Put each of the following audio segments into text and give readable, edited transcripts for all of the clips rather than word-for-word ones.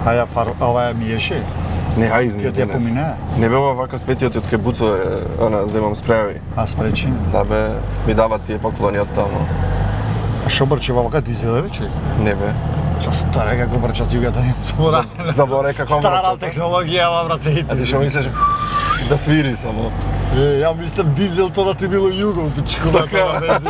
Хаја ова миеше? Не, ај измија Ќе денес. помине? Не бева вака светиот од кај буцо, она, земам спрејави. А спречи? Да бе, ми дават тие поклони од таму. А шо брче вака дизел вече? Не бе. Шо старе како брчат југата им збора. Заборе како Стара брчат. технологија, брате. А ти што мислиш? Да свири само. Ја мислам дизел тоа да ти било југол, пичку да тоа вези.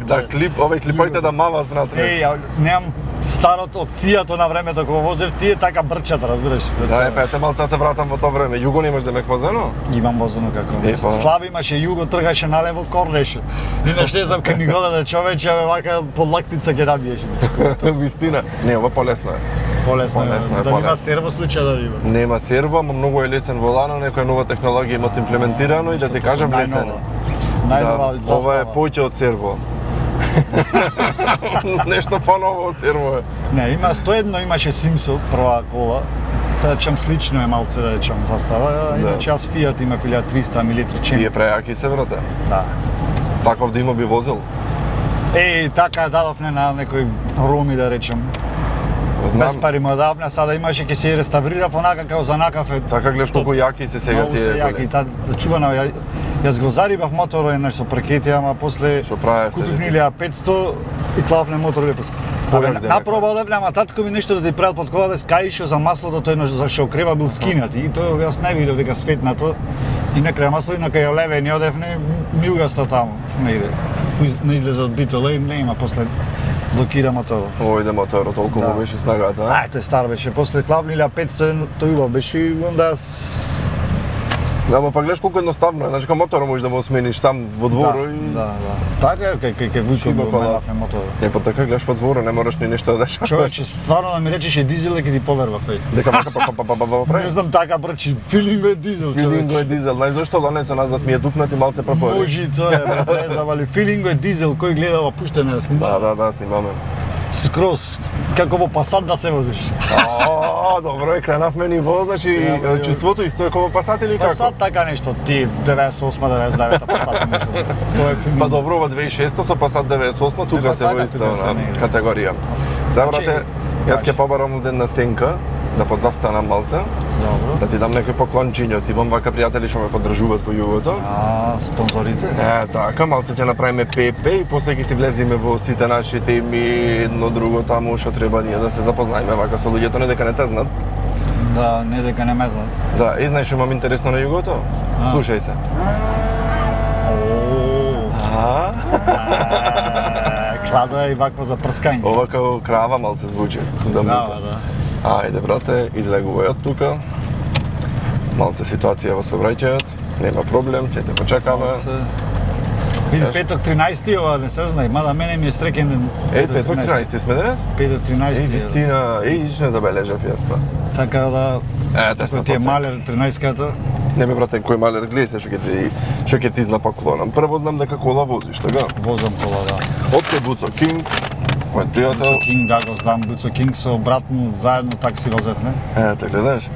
Да клип, овој клипоите да мават внатре. Немам старото од Фијато на времето кога возев тие така брчат, разбираш. Да, те малца те вратам во тоа време. Југо немаш да ме возено? Имам возено како. Слави имаше југо, тргаше налево, корнеше. Инаш не знам кај ми годаде човече, вака под лактица ќе набиеше. Вистина. Не, ова полесно е. Полесно е. Да нема серво случај да има. Нема серво, ама многу е лесен волано, некоја нова технологија имат имплементирано и да ти кажам лесен. Најнова застава. Ова е поќе од серво. Нешто поново од серво е. Не, има 101 имаше Симсо, прва кола. Тоа чам слично е малце да речам застава. Иначе јас Фијат има 1300 милитри чен. Тие прејаки се брате. Да. Таков да има би возил. Така дадовне на некој роми да речам. Знам. Без пари му давна, сада имаше ќе се реставрира понака како за накафе. Така гледаш колку јаки се сега тие. Многу се јаки, да чувано, јас го зарибав моторот еднаш со прекети, ама после купив 1500 и клавне мотор лепо. Напроба одевне, ама татко ми нешто да ти правил под колата, скаишо за маслото, тој еднаш за шокрева бил скинат и тоа јас не видов дека светнато. И на крај масло и на кај леве не одевне, милгаста таму, не иде. Не излезе од битола и не има после блокира моторот. Ојде моторот, толку му беше снагата, а? Тој стар беше, после клавни 1500 тој убав беше и онда Да, ама па гледаш колку едноставно е, значи кај моторот можеш да го смениш сам во дворо и... Да. Така е, кај Вујко го менавме моторот. Не, па така гледаш во дворо, не мораш ни нешто да дешаваш. Човече, стварно да ми речеше дизел, ќе ти поверував, Дека вака па прави? Не знам така брчи, филинго е дизел, човече. Филинго е дизел, знаеш зашто ланецо назад ми е дупнат и малце пропори. Може тоа е, брат, не знам, али филинго е дизел, кој гледа ова пуштене да снима. Да, снимаме. Скроз, како во Пасат да се возиш. Добро е, кренавме ниво, значи чувството исто е како Пасат или како? Пасат така нешто, ти 98-99 Пасат нешто. Тоа е филинго. Па добро, во 2006 со Пасат 98 тука се во иста категорија. Сега брате, јас ќе побарам ден на сенка, да подзастанам малце. Добро. Да ти дам некој поклончиња, ти имам вака пријатели што ме поддржуваат во југото. Спонзорите? Така, малце ќе направиме ПП и после ќе си влеземе во сите наши теми, едно друго таму што треба ние да се запознаеме вака со луѓето, не дека не те знаат. Да, не дека не ме знаат. Да, и знаеш што имам интересно на југото? Слушај се. Кладо е и вакво за прскање. Ова како крава малце звучи. Да. Ајде, брате, излегувај од тука. Малце ситуација во сообраќајот, нема проблем, ќе те почекаме. Види, петок 13 ова не се знае, мада мене ми е среќен ден. Петок 13 сме денес? Петок 13. Вистина, не забележав јас па. Така да, те сме ти е малер 13-ката. Не ме брате, кој малер гледај се што ќе ти знапаклонам. Прво знам дека кола возиш, така? Возам кола, да. Од кај Буцо Кинг, мој пријател. Буцо Кинг, да го знам, Буцо Кинг со брат му заедно такси возевме. Те гледаш?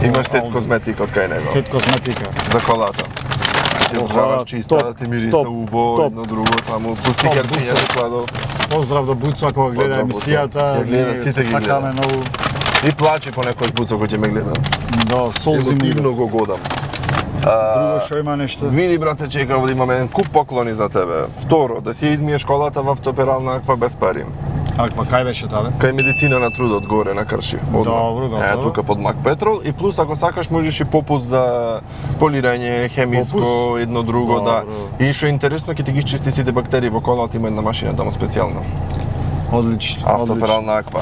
Имаш сет козметика од кај него. Сет козметика. За колата. Ти одржаваш чиста, да ти мириса убо, едно друго, таму, пустикерчиња да кладов. Поздрав до Буцо, ако го гледа емисијата. Ја гледа, сите ги гледа. И плачи по некој Буцо кој ќе ме гледа. Да, солзи ми. Емотивно го годам. Друго што има нешто? Види, брате, чекав да имаме еден куп поклони за тебе. Второ, да си измиеш колата во автоперална аква без пари. Аква, кај беше тоа? Кај медицина на трудот горе на Крши. Добро. Тука под Мак Петрол и плюс ако сакаш можеш и попус за полирање, хемиско, едно друго, да. И што е интересно, ќе ти ги чисти сите бактерии во колата, има една машина таму специјална. Одлично. Автоперална аква.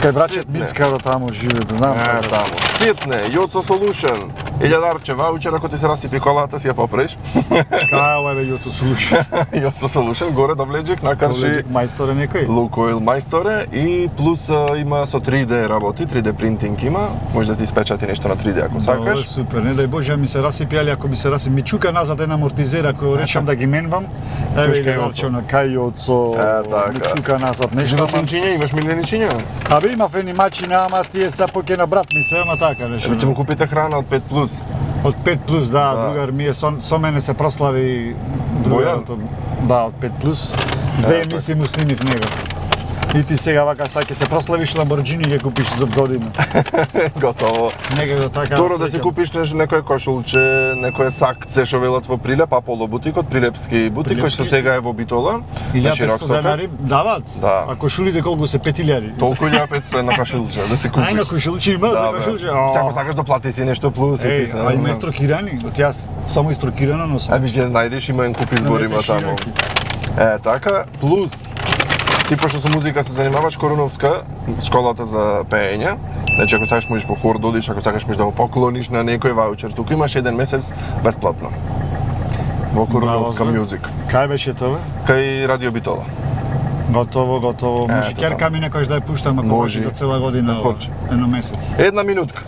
Кај брачет Мицкаро таму живе, знам. Таму. Ситне, Јоцо Solution. 1000 ваучер, ако ти се расипи колата, си ја попреш. Кај ова е Јоцо Solution? Јоцо Solution, горе до Влеџик, на Крши. Мајсторе некој? Лукоил мајсторе и плюс има со 3D работи, 3D принтинг има. Може да ти испечати нешто на 3D ако сакаш. Добре, супер. Не дај Боже ми се расипи, али ако ми се расипи, ми чука назад една амортизера кој речам да ги менвам. Еве ги рачам на кај Јоцо. Ми чука назад нешто. Животинчиња, имаш миленичиња? Абе имав едни мачина, ама тие се поќе на брат ми се, ама така нешто. Ќе му купите храна од 5+. Од 5+, да, другар ми е со мене се прослави другарот. Да, од 5+. Две емисии му снимив него. И ти сега вака ќе се прославиш Lamborghini ќе купиш за година. Готово. Некако така. Второ да си купиш некој кошулче, некој сакце што велат во Прилеп, Аполо бутикот, прилепски бутик кој што сега е во Битола. 1500 денари дават? Да. А кошулите колку се 5000? Толку 1500 на кошулче да си купиш. Ајна кошулче има за кошулче. Сега сакаш да плати си нешто плюс и ти се. А има инструкирани? Јас само инструкирано носам. Ќе најдеш има куп избор има таму. Така, плюс ти пошто со музика се занимаваш, Коруновска, школата за пеење. Значи ако сакаш можеш во хор да одиш, ако сакаш можеш да го поклониш на некој ваучер. Туку имаш еден месец бесплатно. Во Коруновска Music. Кај беше тоа? Кај Радио Битола. Готово. Може керка ми некојаш да ја пуштам ако може за цела година, едно месец. Една минутка.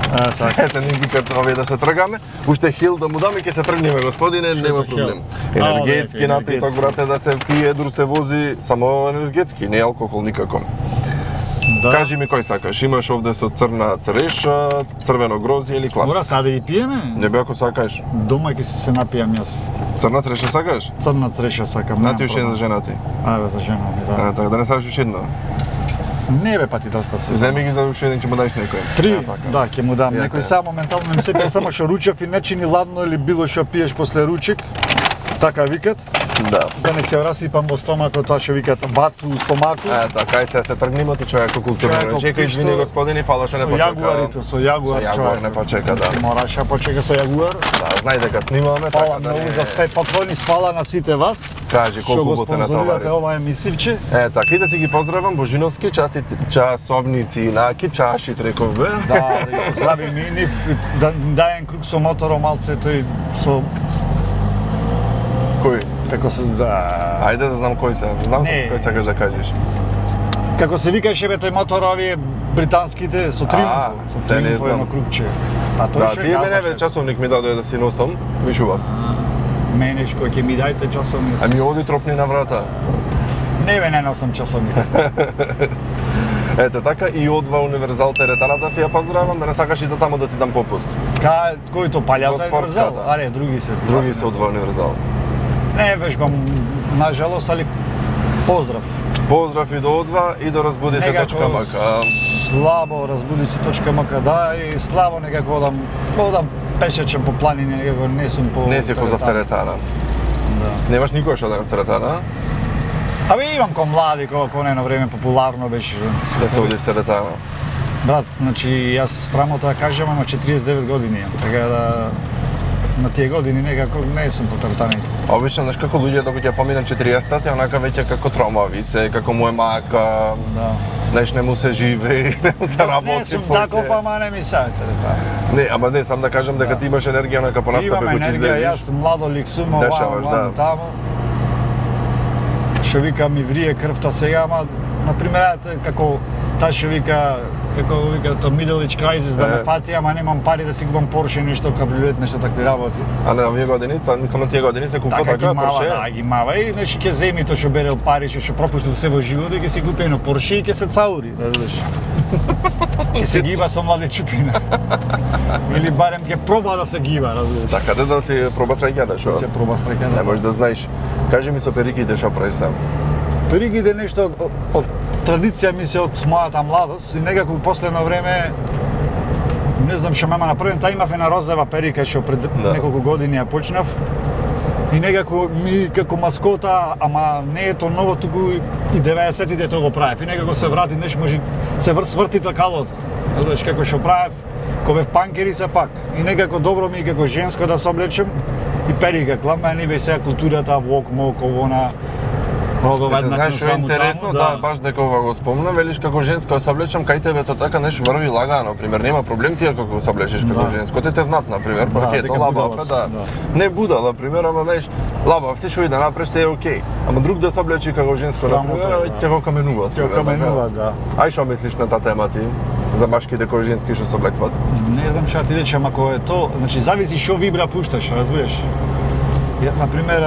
Така. Ете, ни викат овие да се тргаме. Уште хил да му даме, ќе се тргнеме, господине, нема проблем. Енергетски напиток, брате, да се пие, дур се вози, само енергетски, не алкохол никако. Да. Кажи ми кој сакаш, имаш овде со црна цреша, црвено грозје или класик? Мора сега да ги пиеме? Не бе ако сакаш. Дома ќе се напијам јас. Црна цреша сакаш? Црна цреша сакам. Нати уште за женати. За женати, да. Така, да не сакаш уште едно? Не бе, па ти доста се. Земи ги за уште еден, ќе му дадеш некој. 3, да, ќе му дам. Некој само моментално не се пие само што ручев и не чини ладно или било што пиеш после ручек. Така викат. Да. Да не се расипам во стомакот, тоа што викат вату у стомаку. Така, сега се тргнемо ти човеко културно. Чекај, извини господини, фала што не почека. Со јагуар човек. Не почека, да. Мораше почека со јагуар. Да, знај дека снимаме, така да многу за све поклони, свала на сите вас. Кажи колку боте на товари. Ова емисивче. Така и да си ги поздравам Божиновски часовници инаки, чашит реков бе. Да ги поздравим и нив, да дајем круг со мотором малце тој со кој? Како се Ајде да знам кој се. Знам се кој сакаш да кажеш. Како се викаше бе тој мотор овие британските со Триумф, со Триумф едно кругче. А тој да, тие мене бе часовник ми даде да си носам, вишував. Мене кој ќе ми дајте часовник. Ами оди тропни на врата. Не бе, не носам часовник. Ете така и одва Универзал теретаната си ја поздравам, да не сакаш и за таму да ти дам попуст. Кој то палјата Универзал? Аре, други се. Други се одва Универзал. Не вежбам, нажалост, али поздрав. Поздрав и до одва и до разбуди се .мк. Слабо разбуди се .мк, да, и слабо некако одам пешечем по планини, некако не сум по... Не си позав теретана. Да. Немаш никој што да на теретана? Абе имам ко млади, ко едно време популарно беше. Да се оди в теретана. Брат, значи јас страмота да кажам, ама 49 години имам, така да на тие години некако не сум по теретаните. Обично, знаеш како луѓе докато ќе поминат 40-та, онака веќе како тромави се, како му е мака, знаеш, не му се живе, не му се работи. Не сум таков, ама не ми се теретана. Не, ама не, сам да кажам дека ти имаш енергија онака по настапе кој ќе излезеш. Имам енергија, јас младолик сум, овамо, тамо. Што вика ми врие крвта сега, ама например како таа што вика то middle age crisis да ме фати, ама немам пари да си купам Порше, нешто кабриолет, нешто такви работи. А на овие години, мислам на тие години се купува така Порше? Да, ги мава и нешто ќе земи тоа што берел пари, што пропуштил се во живот и ќе си купи едно Порше и ќе се цаури, разбираш. Ќе се гиба со млади чупина. Или барем ќе проба да се гиба, разбираш. Така да си проба сраќата, шо? Се проба сраќата. Не можеш да знаеш. Кажи ми со периките што прави сам. Периките нешто од традиција ми се од мојата младост и некако последно време не знам што мама направи, таа имав една розова перика што пред неколку години ја почнав и некако ми како маскота, ама не е тоа ново, туку и 90-тите тоа го правев и некако се врати, неш може се сврти такалото. Знаеш како што правев, кога бев панкери се пак и некако добро ми како женско да се облечем и перика, клама не бе сега културата вок мок овона. Се знаеш што е интересно, да, баш дека ова го спомна, велиш како женско се облечам, кај тебе тоа така нешто врви лагано, пример, нема проблем ти како се облечеш како женско, те знат на пример, паркето лаба, да. Не будала, пример, ама знаеш, лаба, се што и да направиш се е окей. Ама друг да се облечи како женско, на пример, ќе го каменува. Ќе го каменува, да. Ај што мислиш на таа тема ти? За машките кои женски што се облекват? Не знам што ти речам, ако е тоа, значи зависи што вибра пушташ, разбираш. На пример,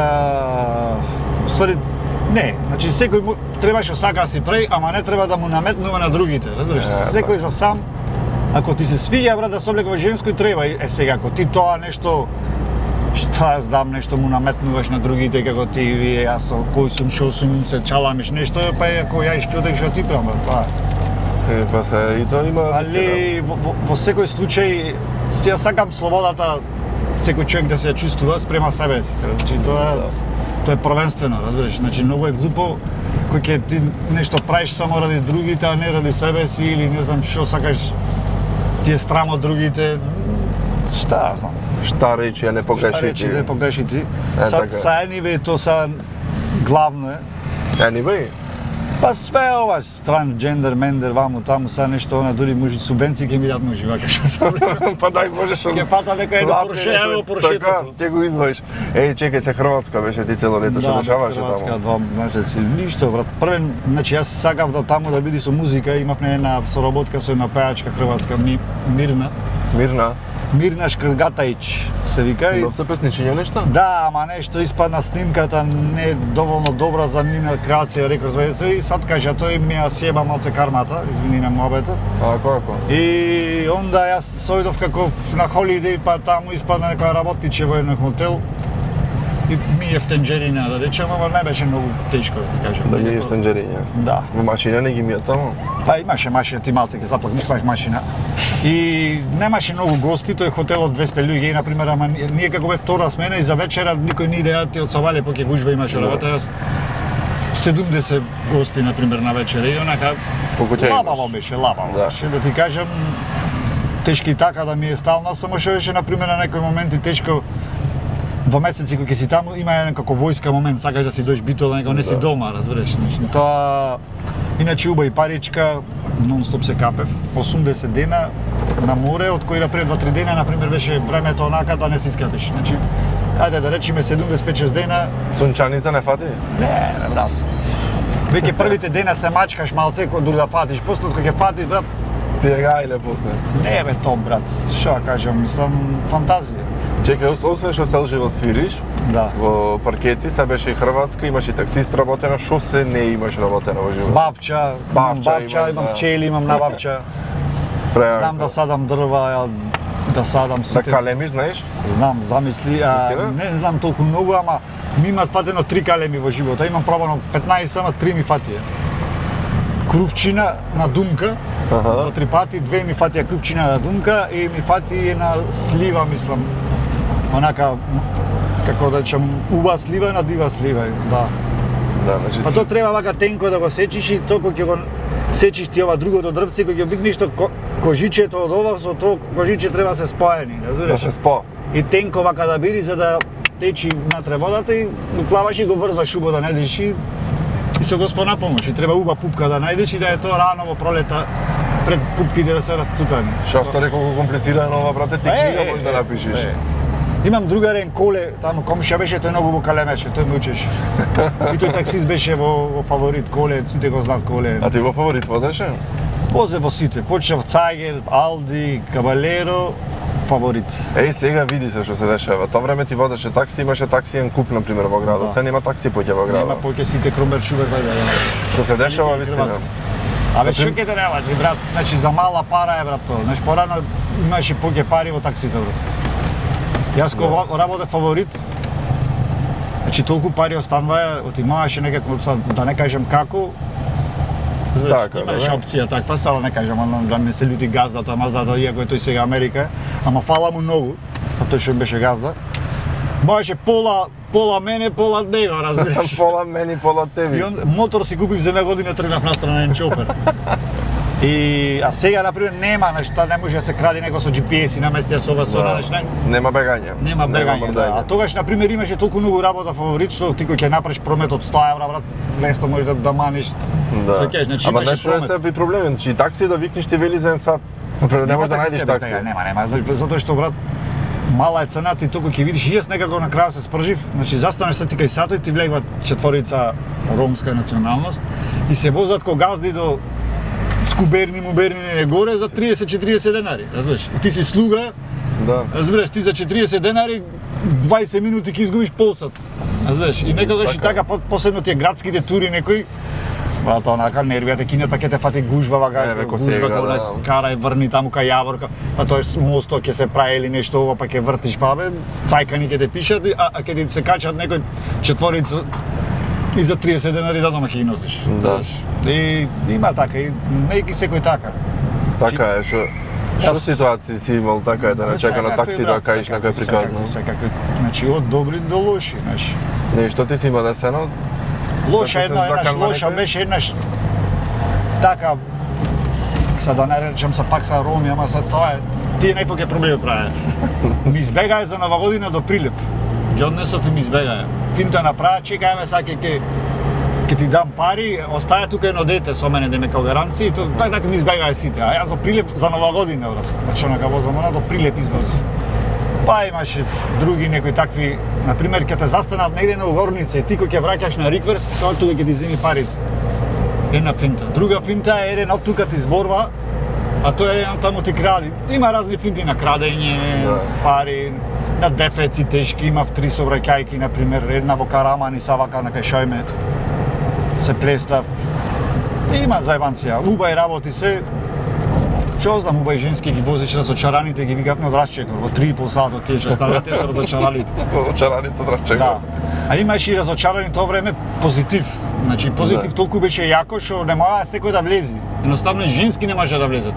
ствари не, значи секој требаше сака си прави, ама не треба да му наметнува на другите, разбираш? Секој за сам, ако ти се свиѓа брат да се облекува женско и треба, сега ако ти тоа нешто Шта ја знам, нешто му наметнуваш на другите како ти вие, јас кој сум, шо сум, се чаламиш нешто, па ако ја ишкодек што ти правам, тоа. Па се и тоа има али во секој случај ја сакам слободата секој човек да се ја чувствува спрема себе си. Значи тоа е првенствено, разбираш. Значи многу е глупо кој ќе ти нешто правиш само ради другите, а не ради себе си или не знам што сакаш ти е страм од другите. Шта знам. Шта речи, а не погреши ти. Шта речи, не погреши ти. Са anyway, то са главно е. Anyway? Па све ова, трансджендер, мендер, ваму, таму, са нешто, она дури може субенции ќе ми дадат мужи, вака што сам. Па дај, можеш... Ќе фата нека едно Порше, ево Поршето. Така, ќе го извоиш. Чекај се, Хрватска беше ти цело лето, што дешаваше таму? Да, Хрватска, 2 месеци, ништо, брат. Првен, значи јас сакав да таму да биде со музика, имавме една соработка со една пејачка хрватска, Мирна. Мирна Шкргатаич се вика. Добте песничиња нешто? Да, ама нешто испадна снимката не доволно добра за нивна креација, рекорд и сад кажа тој ми ја сјеба малце кармата, извини на муабетот. Ако? И онда јас сојдов како на холидеј, па таму испадна нека работниче во еден хотел. И миев тенџерина, да речем, ама не беше многу тешко, да кажам. Да миеш тенџерина? Да. Во машина не ги мијат таму? Па имаше машина, ти малце ќе заплакнеш машина. И немаше многу гости, тој хотел од 200 луѓе и например, ама ние како бе втора смена и за вечера никој не иде ти од Савале поќе гужва имаше работа. 70 гости например на вечера и онака лабаво беше, да ти кажам, тешки така да ми е стално, само што беше например на некои моменти тешко. 2 месеци кога ќе си таму има еден како војска момент, сакаш да си дојдеш битола, него не си дома, разбираш. Тоа иначе уба и паричка, нон-стоп се капев. 80 дена на море, од кои да пред 2-3 дена например беше времето онака да не се искапиш. Значи, ајде да речеме 75-6 дена. Сончаница не фати? Не, брат. Веќе првите дена се мачкаш малце дури да фатиш, после кога ќе фатиш, брат. Ти е гајле после. Не бе топ, брат. Што кажам, мислам фантазија. Чекај, освен што цел живот свириш, во паркети, се беше и Хрватска, имаш и таксист работена, што се не имаш работена во живот? Бавча, имам пчели, имам на бавча. Знам да садам дрва, да садам сите. Да калеми знаеш? Знам, замисли, не знам толку многу, ама ми имат фатено 3 калеми во живота, имам пробано 15, ама 3 ми фатија. Крувчина на думка, во 3 пати, 2 ми фатија крувчина на думка и ми фати една слива, мислам. Онака, како да речам, уба слива на дива слива, да. Да, значи па тоа треба вака тенко да го сечиш и тоа кога ќе го сечиш ти ова другото дрвце, кога ќе обикнеш кожичето од ова со тоа кожиче треба се споени, разбираш? Да се спо. И тенко вака да биде за да течи натре водата и го клаваш и го врзваш убо да најдеш и со Господ помош. И треба уба пупка да најдеш и да е тоа рано во пролета пред пупките да се расцутани. Шо рекол колку комплицирано ова, брате, ти книга можеш да напишеш. Имам другарен Коле, таму комшија беше, тој многу во калемеше, тој ме учеше. И тој таксист беше во Фаворит Коле, сите го знаат Коле. А ти во Фаворит возеше? Возе во сите, почнав Цагер, Алди, Кабалеро, Фаворит. Сега види се што се дешава. Тоа време ти возеше такси, имаше таксиен куп на пример во градот. Сега нема такси поќе во градот. Нема поќе сите Кромбер Шубер Што се дешава вистина? Абе што ќе те работи, брат? Значи за мала пара е брат тоа. Значи порано имаше поќе пари во таксите, брат. Јас кога работев Фаворит, значи толку пари остануваја, отимаваше некако, да не кажем како. Така, имаше опција таква, сега да не кажем, да не се лјути газдата, маздата, иако е тој сега Америка, ама фала му многу, а тој што беше газда. Можеше пола мене, пола него, разбираш. Пола мене, пола тебе. И мотор си купив за една година, тргнав настрана еден чопер. А сега, например, нема, нешта, не може да се кради него со GPS и наместија со ова, со она, нешта. Нема бегање. Нема бегање, да. А тогаш, например, имаше толку многу работа Фаворит, што ти кој ќе направиш промет од 100 евра, брат, лесно можеш да маниш. Да. Ама нешто е се проблем, значи такси да викнеш ти вели за еден сат. Не можеш да најдеш такси. Нема, затоа што, брат, мала е цената и толку ќе видиш, и јас некако на крај се спржив, значи застанеш се ти кај сато и ти влегува четворица ромска националност и се возат ко газди до Скуберни, Муберни, не горе за 30-40 денари, разбираш? Ти си слуга, да. Разбираш, ти за 40 денари 20 минути ќе изгубиш полсат. Разбираш? И некогаш и така посебно тие градските тури некои Брат, онака нервијата кинат, па ќе те фати гужва, гужва, карај, врни таму кај Јаворка, па тој мосто ќе се прави или нешто ова, па ќе вртиш, па бе, цајкани ќе те пишат, а ќе ти се качат некој четворица и за 30 денари до дома ќе ги носиш. Да. И има така, и не ги секој така. Така е, што ситуации си имал така е да не чека на такси да каиш на кој приказно? Секакви, значи од добри до лоши, знаеш. Не, што ти си има десено? Лоша беше еднаш така, са да не речем са пак са роми, ама са тоа е, тие најпоќе проблеми праве. Ми избегаја за Нова година до Прилеп. Ги однесов и ми избегаја. Финто направа, чекајме са ќе ти дам пари, остаја тука едно дете со мене да ме као гаранција и така ми избегаја сите. А јас до Прилеп за Нова година, брат. Значи онака возам она до Прилеп извози. Па имаше други некои такви, например, ќе те застанат негде на угорница и ти кој ќе враќаш на рикверс, тоа тука ќе ти земи пари. Една финта. Друга финта е еден од тука ти зборва, а тој е еден таму ти кради. Има разни финти на крадење, пари, на дефеци тешки, имав 3 собраќајки, например, една во Караман и Савака на кај Шојме се плестав. Има зајбанција, убај работи се. Што знам, убај женски ги возиш разочараните, ги викавме од Рашчекор, во 3,5 сата тие што стават, тие се разочараните. Разочараните од Рашчекор. Да. А имаш и разочарани тоа време позитив. Значи позитив толку беше јако што не можа секој да влези. Едноставно женски не може да влезат.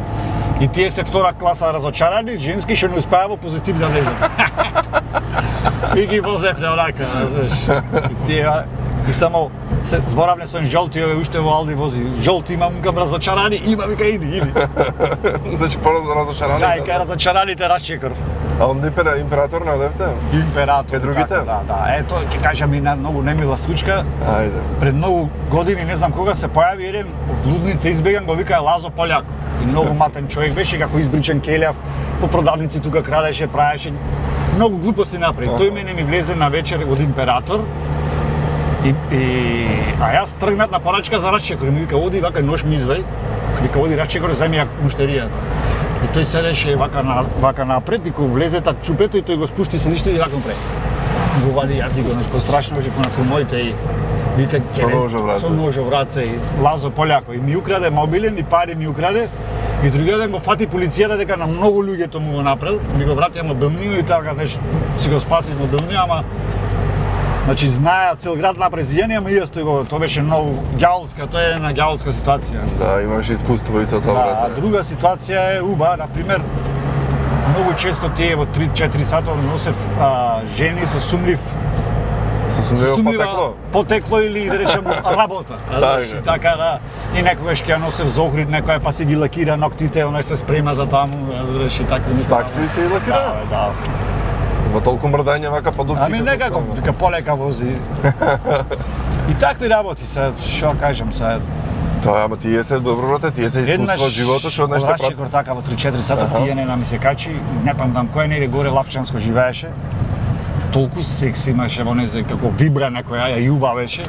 И тие се втора класа разочарани, женски што не успеа во позитив да влезат. И ги возевме онака, знаеш. И тие и само се зборавме со жолти, ове уште во Алди вози. Жолти имам кам разочарани, има вика иди. Значи разочарани. Да, и кај разочараните Рашчекор. А онде император не одевте? Император. Кај другите? Да. Ето ќе кажам и на многу немила случка. Ајде. Пред многу години, не знам кога се појави еден од Лудница избеган, го викаа Лазо Пољак. И многу матен човек беше, како избричен келјав, по продавници тука крадеше, правеше многу глупости направи. Тој мене ми влезе на вечер од Император. А јас тргнат на порачка за Рашчекор и ми вика оди вака нош ми извај. Вика оди Рашчекор земи ја муштеријата. И тој седеше вака напред и кога влезе таа чупето и тој го спушти се лишто и вака напред. Го вади јазик, нешто страшно беше на филмоите и вика со нож во раце и Лазо Пољако и ми украде мобилен и пари ми украде. И другиот ден го фати полицијата дека на многу луѓе тоа му го направил, ми го вратија мобилниот и така нешто си го спаси мобилниот, ама значи знаеа цел град направи зијање, ама и јас тоа беше многу ѓаолска, тоа е една ѓаолска ситуација. Да, имаш искуство и со тоа. Да, а друга ситуација е уба, например, многу често тие во 3-4 сата носев жени со сумлив потекло или да речем работа. Така да, и некогаш ќе ја носев за Охрид некоја па си ги лакира ноктите, онај се спрема за таму, разбираш и така. Такси се лакира? Да. Во толку мрдање вака по дупки. Ами некако, вика полека вози. И такви работи се, што кажам се. Тоа, ама тие се добро брате, тие се искуство од животот што нешто прави. Рашчекор така во 3-4 сата пијане ми се качи, не памтам кој неде горе Лапчанско живееше. Толку секси имаше во незе како вибра некоја ја јуба беше.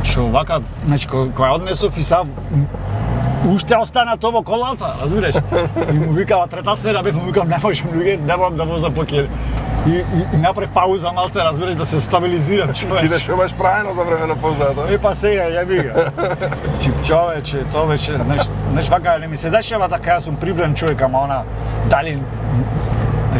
Што вака, значи кога однесов и сам уште остана тоа во колата, разбираш? И му викава трета смена, бев му викам не можам луѓе, не можам да возам покер. И направи пауза малце, разбираш, да се стабилизирам човече. Ти да што имаш правено за време на паузата? Па сега, ја бига. Човече, тоа беше, знаеш, вака не ми се дешава така, јас сум прибран човек, ама она, дали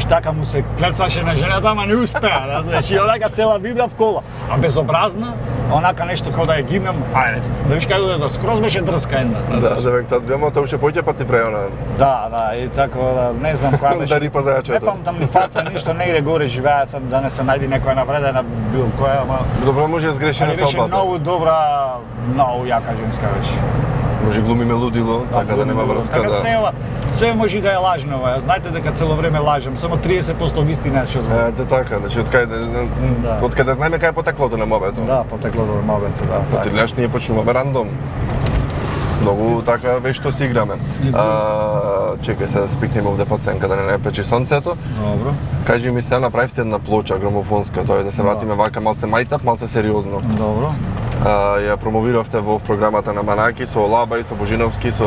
така му се клецаше на жената, ама не успеа, разбираш, и онака цела вибра в кола. А безобразна, онака нешто како да ја гимнам, ајде, да виш како да скроз беше дрска една. Да, век тад бемо тоа уште поќе пати преона. Да, и така да не знам која беше. Да рипа зајачето. Не памтам ни фаца ништо, негде горе живеа сам да не се најди некоја навредена било која, ама добро може да сгреши на салбата. Беше многу добра, многу јака женска беше. Може глумиме лудило, така да нема врска, да. Се може да е лажно, знаете дека цело време лажам, само 30% вистина што зборам. Ете така, значи од каде знаеме кај е потеклото на мобето. Да, потеклото на мобето, да. Потиляш ние почнуваме рандом. Многу така вешто си играме. Чекај се да се пикнеме овде под сенка да не печи сонцето. Добро. Кажи ми се, направивте една плоча грамофонска, тоа е да се вратиме вака малце мајтап, малце сериозно. Добро. Ја промовиравте во програмата на Манаки со Лаба и со Божиновски, со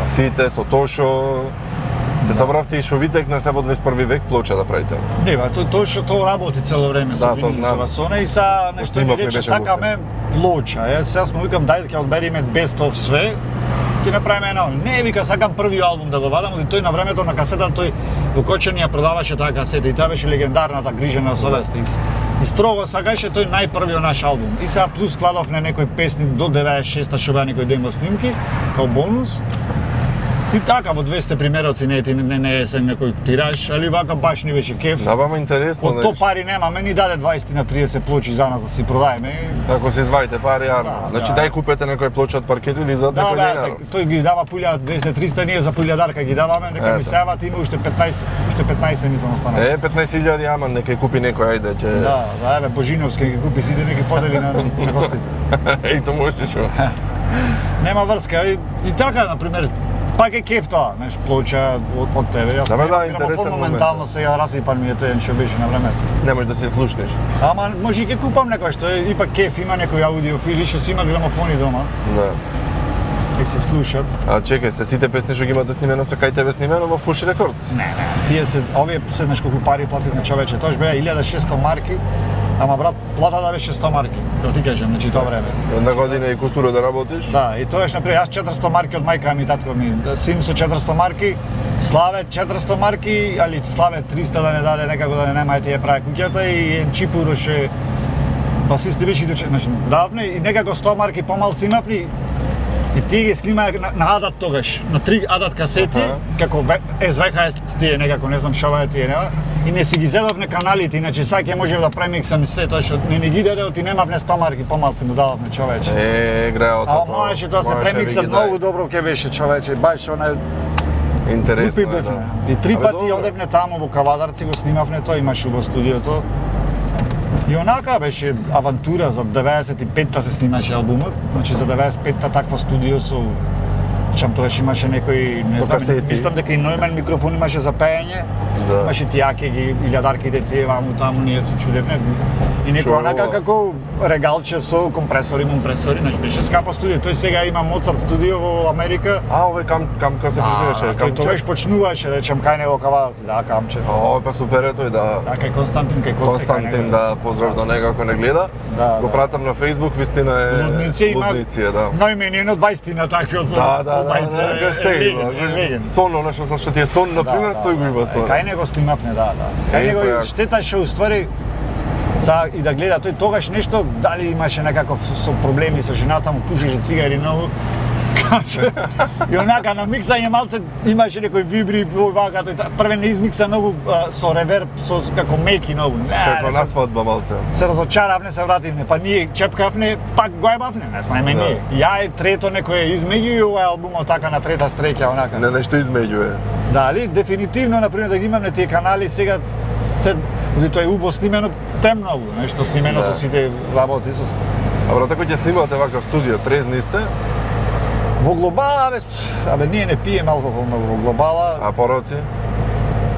сите, со Тошо. Се собравте и шовитек на се во 21 век плоча да правите? Не, тоа што работи цело време со винил со васона и са нешто ми рече сакаме плоча. Сега му викам дај ќе одбериме best of све. Ќе направиме едно. Не вика сакам први албум да го вадам, и тој на времето на касета тој во Кочани ја продаваше таа касета и таа беше легендарната Грижена совест. И строго сакаше тој најпрвиот наш албум. И сега плюс складовме некои песни до 96-та што беа некои демо снимки као бонус. И така во 200 примероци не е се некој тираж, али вака баш ни беше кеф. Да, бама интересно. Од то пари немаме, ни даде 20 на 30 плочи за нас да си продаеме. Ако се изваите пари, јарно. Значи дај купете некој плоча од паркет или за некој денар. Да, тој ги дава 1200-300, ние за 1000 дарка ги даваме, нека ми севат, има уште 15 мислам останат. 15.000 ама нека купи некој, ајде ќе. Да, еве Божиновски ги купи сите неки подели на гостите. Еј тоа може што. Нема врска и така на пример. Пак е кеф тоа, знаеш, плоча од тебе. Јас интересен моментално сега расипан ми е тој што беше на времето. Не можеш да се слушнеш. Ама може и ќе купам некој што е ипак кеф, има некои аудиофили што си има грамофони дома. Да. И се слушат. А чекај, се сите песни што ги имате снимено со кај тебе снимено во Fush Records? Не. Тие се овие седнаш колку пари платив на човече. Тоа беа 1600 марки. Ама брат, платата беше 100 марки, како ти кажам, значи тоа време. Една година и кусуро да работиш? Да, и тоа например, јас 400 марки од мајка ми и татко ми, син со 400 марки, Славе 400 марки, али Славе 300 да не даде некако да не нема тие прави куќата и чипуроше басисти беше идуче, значи давне и некако 100 марки помалци имавни. И тие ги снимаа на Адат тогаш, на 3 Адат касети, како SVHS тие некако, не знам шо е тие, нема. И не си ги зедовне каналите, иначе сега ќе можев да премиксам и све тоа што не ги даде, ти немавне 100 марки помалци му дадовме човече. Греото тоа. А можеше тоа се премикса многу добро ќе беше човече, баш она интересно е, да. И 3 пати одевне таму во Кавадарци го снимавне тоа, имаше во студиото. И онака беше авантура, за 95-та се снимаше албумот, значи за 95-та такво студио со чам тогаш имаше некој, не знам, мислам дека и Нойман микрофон имаше за пеење, имаше тијаке ги, илјадарките тие ваму таму, ние се чудевме. И некој онака како регалче со компресори, момпресори, значи беше скапо студио. Тој сега има Моцарт студио во Америка. Овој камка се презиваше, тој тогаш почнуваше, речем, кај него Кавадарци, да, камче. Па супер е тој, да. Да, кај Константин, кај Коце. Константин, да, поздрав до него ако не гледа. Го пратам на Facebook, вистина е лудници, да. Најмени едно 20 такви од сон, она што ти е сон, например, тој го има сон. Кај него снимавме, да. Кај него штета што уствари и да гледа тој тогаш нешто, дали имаше некаков со проблеми со жената му, пушеше цигари многу. И онака на миксање малце имаше некој вибри вака, тој прве не измикса многу со реверб, со како меки многу. Како на свадба малце. Се разочаравне, се вративме, па ние чепкавне, пак го ебавне, не знаеме ние. Ја трето некој измеѓу и овој албумот така на трета стреќа онака. Не, нешто измеѓу е. Дали, дефинитивно, например, да ги имаме тие канали сега се тоа е убаво снимено премногу, нешто снимено со сите работи со. А брате, кој ќе снимате вака в студио, трезни сте? Во глобала, абе ние не пиеме алкохол многу во глобала. А пороци?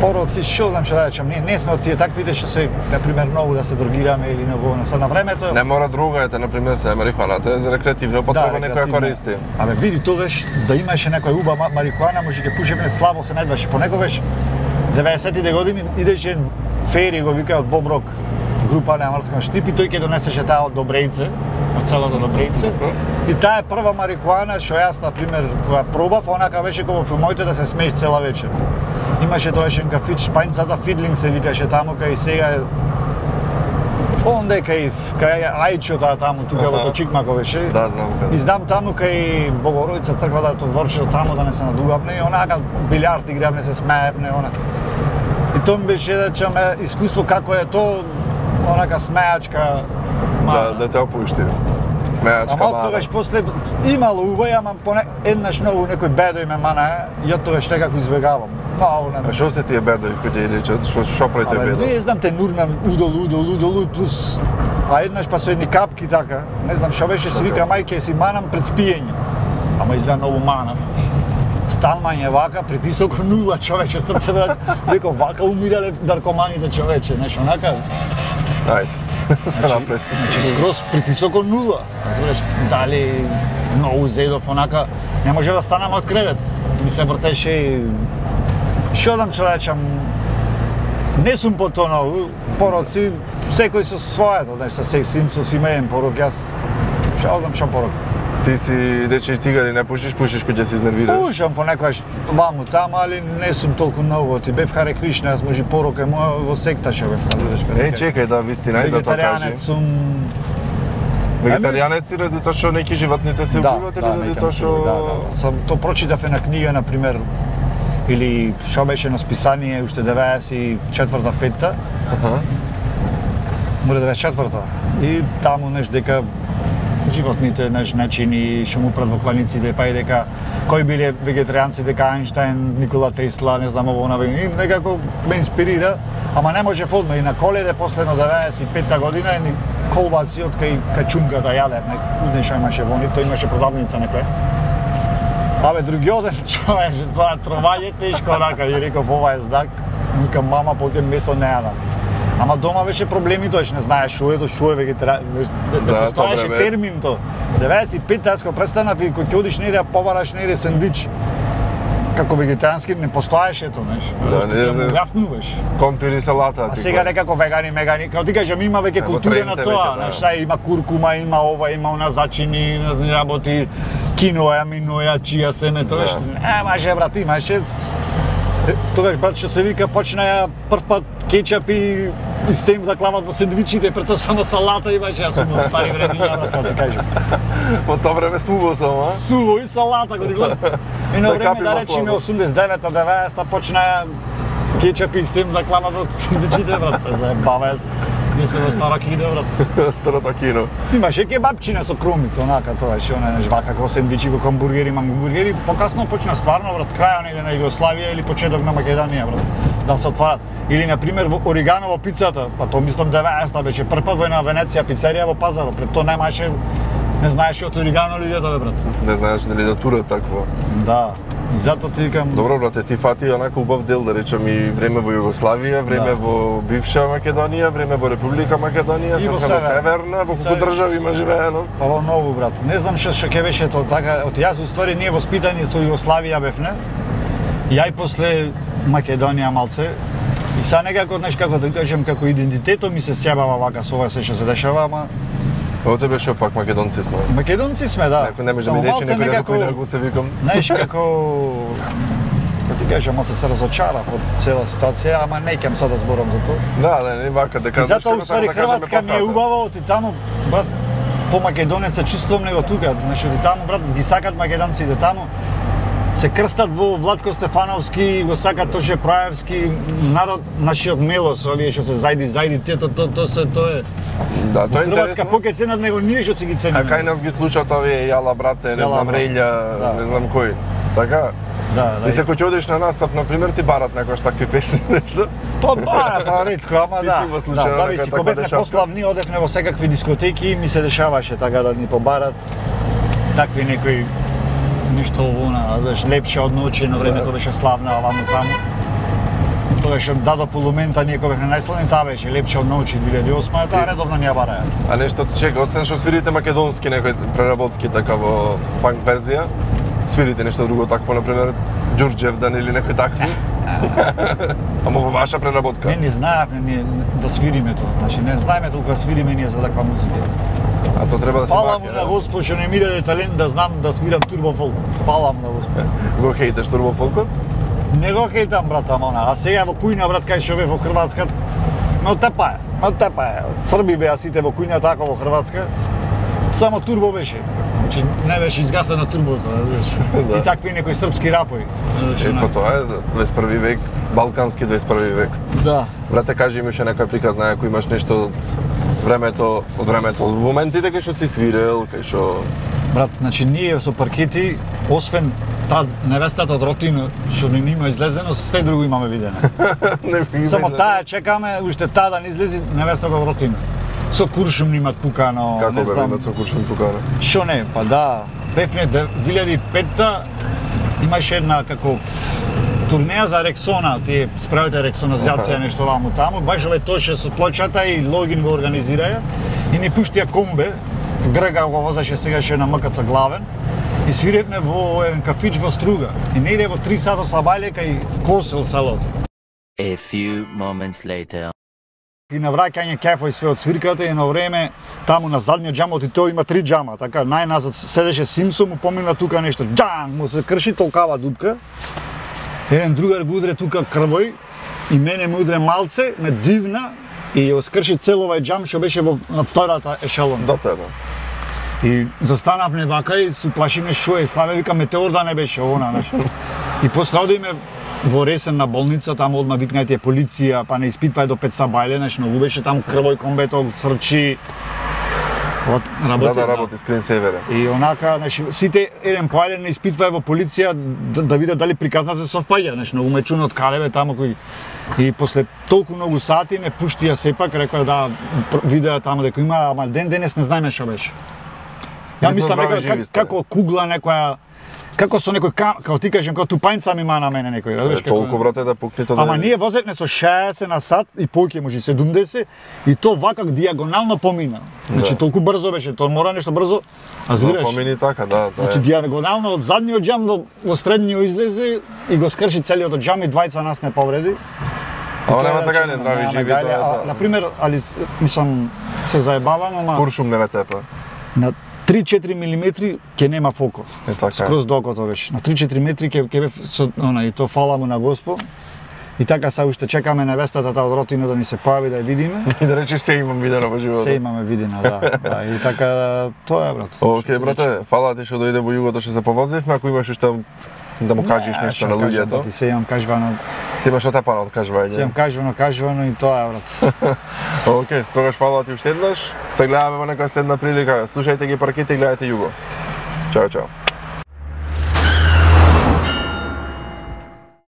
Пороци, што знам што да речам, ние не сме од тие таквите што се, например, многу да се дрогираме или многу на времето. Не мора другајте, например, се марихуаната е за рекреативно потреба, некој ја користи. Абе види тогаш да имаше некоја уба марихуана, може ќе пушеме слабо се најдваше, понекогаш 90-тите години идеше Фери го вика од Боброк, група на Амарскан Штип и тој ќе донесеше таа од Добрејце, од селото Добрејце. И таа е прва марихуана што јас, например, која пробав, онака беше како во филмовите да се смееш цела вечер. Имаше тоешен кафич, Шпајнцата Фидлинг се викаше таму, кај сега онде кај Ајчо таму, тука во Точикмако беше. Да, знам каде. И знам таму кај Богородица црквата тоа ворче таму да не се надугавне и онака билјард игравне, се смеевне, онака. И тоа ми беше да чаме искуство како е тоа, онака смејачка. Да те опушти. Смејачка мала. Ама тогаш после имало убави, ама еднаш многу некој бедој ме мана и од тогаш некако избегавам. А што се тие бедои кои ти речат? Што правите бедој? Не знам, те нурмам удол плюс еднаш па со едни капки така. Не знам што беше, си вика мајке си манам пред спиење. Ама изгледа многу манав. Сталмање вака, притисок 0 човече, срце да дека вака умирале наркоманите човече, нешто онака. Ајде. Се напред. Значи скроз притисок 0. Разбираш, дали многу зедов онака, не може да станам од кревет. Ми се вртеше Што дам човечам, не сум по тоа, пороци, секој со своето, со син, со семеен порок, јас што одам што порок. Ти си речеш цигари, не пушиш кога ќе се изнервираш? Пушам понекогаш ваму таму, али не сум толку многу. Ти бев Харе Кришна, јас може порок е моја во секта што бев, разбираш како. Чекај да вистина и за тоа кажи. Вегетаријанец сум. Вегетаријанец си ради тоа што неки животните се убиват или ради тоа што Сам то прочитав една книга на пример или што беше на списание уште 94-5-та. Мора да беше 4-та. И таму нешто дека животните начини што му пред во кланиците, па и дека кои биле вегетаријанци, дека Ајнштајн, Никола Тесла, не знам ово и некако ме инспирира, ама не може одма и на Коледе после на 95-та година ни колбаси од кај чумката јадев, не што имаше во нив, тој имаше продавница некоја. Абе другиот ден човече, тоа тровање тешко рака, и реков ова е знак, викам мама поќе месо не јадам. Ама дома беше проблеми тоа, не знаеш што е вегетаријан, да постоеше термин тоа. 95-та јас кога престанав и кога ќе одиш неде, побараш неде сендвич. Како вегетаријански не постоеше тоа, знаеш. Да, јаснуваш. Компири салата. А сега некако вегани, мегани, како ти кажам, има веќе култура на тоа, знаеш, има куркума, има ова, има она зачини, работи, киноја, миноја, чија семе, тоа што маже брат, имаше тогаш брат што се вика почнаја прв пат кетчап и сем да клават во сендвичите, прето само салата имаше, јас сум од стари времиња, да ти кажам. По тоа време суво само, а? Суво и салата, го ти гледам. И на време да речеме 89-та, 90-та почнаја кетчап и сем да клават во сендвичите, брат, заебавај се. Ние сме во стара кино, брат. Старото кино. Имаше кебапчина со кромито, онака тоа, што не жвака како сендвичи, како хамбургери, мангургери. Покасно почна стварно, брат, крајот неде на Југославија или почеток на Македонија, брат, да се отварат. Или на пример во оригано во пицата, па тоа мислам 90-та беше прв пат во една Венеција пицерија во Пазарот, пред тоа немаше, не знаеше од оригано ли тоа, брат. Не знаеш дали да тура такво. Да. И затоа ти викам... Добро, брате, ти фати онака убав дел, да речем, и време во Југославија, време во бивша Македонија, време во Република Македонија, и во Северна, во колку држави има живеено? Па во ново, брат. Не знам што ќе беше тоа така, од јас уствари ние воспитани со Југославија бевне. Ја и после Македонија малце. И са некако, знаеш, како да кажем, како идентитетот ми се сјабава вака со ова се што се дешава, ама Ово тебе што пак македонци сме. Македонци сме, да. Некој не може да ми рече некој како да го се викам. Знаеш како ти кажам, малце се разочарав од цела ситуација, ама не ќам сега да зборам за тоа. Да, не вака да кажеш. Затоа уствари Хрватска ми е убаво, ти таму брат по македонец се чувствувам него тука, значи ти таму брат ги сакат македонците таму. Се крстат во Владко Стефановски, го сакат Тоше Праевски, народ нашиот Мелос, овие што се зајди, тоа е. Да, тоа е интересно. Хрватска поќе ценат него ние што се ги цениме. А кај нас ги слушаат овие Јала брате, не знам Рејлја, не знам кој. Така? Да. И се кога ќе одиш на настап, на пример, ти барат некојаш такви песни, нешто? Па барат, ретко, ама да. Да, зависи, кога бевме пославни, одевме во секакви дискотеки, ми се дешаваше така да ни побарат такви некои нешто овона, знаеш, лепше од ноќе на време кога беше славна оваму таму. Тоа што дадо полумента ние кога бевме најславни, таа беше лепше од ноќе 2008, таа редовно ни ја бараја. А нешто чека, освен што свирите македонски некои преработки така во панк верзија, свирите нешто друго такво, например Ѓурџевдан или некои такви? Ама во ваша преработка? Не знаевме ние да свириме тоа, значи не знаеме толку да свириме ние за таква музика. А тоа треба да се Пала му на Господ што не ми даде талент да знам да свирам турбофолк. Пала му на Господ. Го хейташ турбофолкот? Не го хейтам брат, ама а сега во кујна брат кај што бе во Хрватска, ме оттепаја. Срби беа сите во кујна така во Хрватска. Само турбо беше. Значи не беше изгасено турбото, да. И такви некои српски рапови. Па тоа е 21 век, балкански 21 век. Да. Брате, кажи ми уште некоја приказна, ако имаш нешто од времето, од моментите кај што си свирел, кај што... Брат, значи ние со паркети, освен таа невестата од Ротино, што не има излезено, све друго имаме видено. Само таа чекаме, уште таа да не излези невестата од Ротино. Со куршум немат пукано, како не знам. Како со куршум пукано? Што не, па да, бевме 2005-та, имаше една како турнеја за Рексона, тие справите рексоназација нешто ваму таму, баш летоше со плочата и Логин го организираја и ни пуштија комбе, Грега го возеше сегаше на МКЦ главен и свиревме во еден кафич во Струга. И негде во 3 сата са бајле кај Косел селото. A few moments later. И на враќање кефој све од свирката и на време таму на задниот џамот и тој има 3 џама, така најназад седеше Симсон, му помина тука нешто, џанг, му се крши толкава дупка. Еден другар го удре тука крвој и мене му удре малце, ме дзивна и ја скрши цел овај џам што беше на втората ешелон. Да, тебе. И застанавме вака и се плашиме шо е, Славе вика метеор да не беше она, знаеш. И после одиме во Ресен на болница, таму одма викнајте полиција, па не испитвај до 5 сабајле, знаеш, многу беше таму крвој комбето, срчи. Вот работи. Да, работи скрин севере. И онака, знаеш, сите еден по еден не испитвај во полиција да видат дали приказна се совпаѓа, знаеш, многу ме чуна од калеве таму кој и после толку многу сати ме пуштија сепак, рекоа да видеа таму дека има, ама ден денес не знаеме што беше. Ја мислам како кугла некоја, како со некој како ти кажем, како тупајнца ми мана мене некој, разбираш како. Толку брате да пукне тоа. Ама ние возевме со 60 на сат и поќе може 70 и то вака дијагонално помина. Значи толку брзо беше, тоа мора нешто брзо, а збираш. Да, помини така, да. Значи дијагонално од задниот џам до средниот излезе и го скрши целиот џам и двајца нас не повреди. Ама нема така не здрави живи тоа. На пример, али мислам се заебавам, ама куршум не ве тепа. На 3-4 милиметри ќе нема фокус. Скроз докото беше. На 3-4 метри ќе бе со она и то фала му на Господ. И така се уште чекаме невестата од Ротино да ни се појави да ја видиме. И да речеш се имам видено во животот. Се имаме видено, да. Да, и така тоа е, брат. Океј, брате, фала ти што дојде во југото што се повозивме, ако имаш уште да му кажеш нешто на луѓето. Ти се имам кажвано. Се имаш отепано од кажвање. Се имам кажвано и тоа е, брат. Океј, тогаш фала ти уште еднаш. Се гледаме во некоја следна прилика. Слушајте ги парките и гледајте југо. Чао, чао.